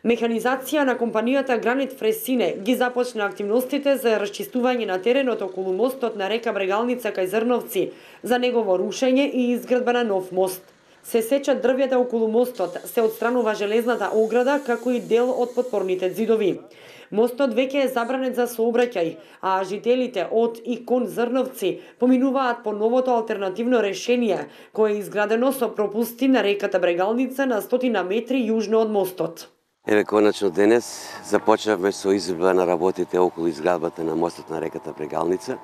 Механизација на компанијата Гранит Фресине ги започна активностите за расчистување на теренот околу мостот на река Брегалница кај Зрновци, за негово рушење и изградба на нов мост. Се сечат дрвјата околу мостот, се отстранува железната ограда, како и дел од подпорните зидови. Мостот веќе е забранет за сообраќај, а жителите од и кон Зрновци поминуваат по новото алтернативно решение, кое е изградено со пропусти на реката Брегалница на 100 метри јужно од мостот. Еве, конечно денес започнавме со изvedба на работите околу изградбата на мостот на реката Брегалница.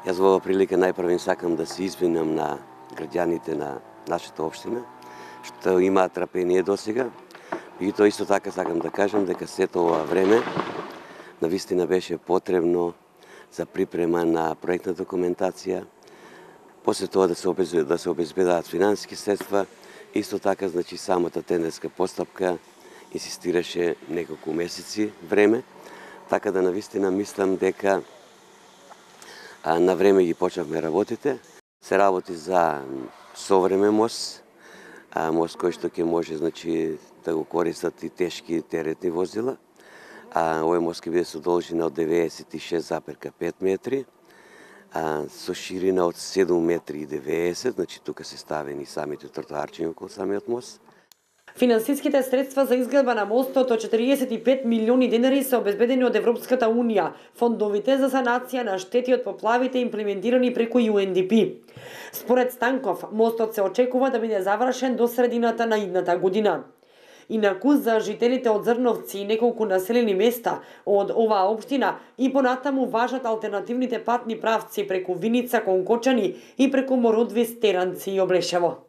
Јас во оваа прилика најпрво сакам да се извинам на граѓаните на нашата општина, што имаат трпение досега. И тоа исто така сакам да кажам дека сето ова време навистина беше потребно за припрема на проектна документација, после тоа да се обезбедат финансиски средства, исто така самата тендерска постапка инсистираше неколку месеци време, така да навистина мислам дека на време ги почнавме работите. Се работи за современ мост, мост кој што ќе може да го користат и тешки теретни возила. Овој мост ќе биде со должина од 96,5 метри, со ширина од 7 метри и 90, тука се ставени самите тротоарчиња околу самиот мост. Финансиските средства за изградба на мостот од 45 милиони денари се обезбедени од Европската унија, фондовите за санација на штети од поплавите имплементирани преку UNDP. Според Станков, мостот се очекува да биде завршен до средината на идната година. Инаку за жителите од Зрновци и неколку населени места од оваа општина и понатаму важат алтернативните патни правци преку Виница кон Кочани и преку Мородвис, Теранци и Облешево.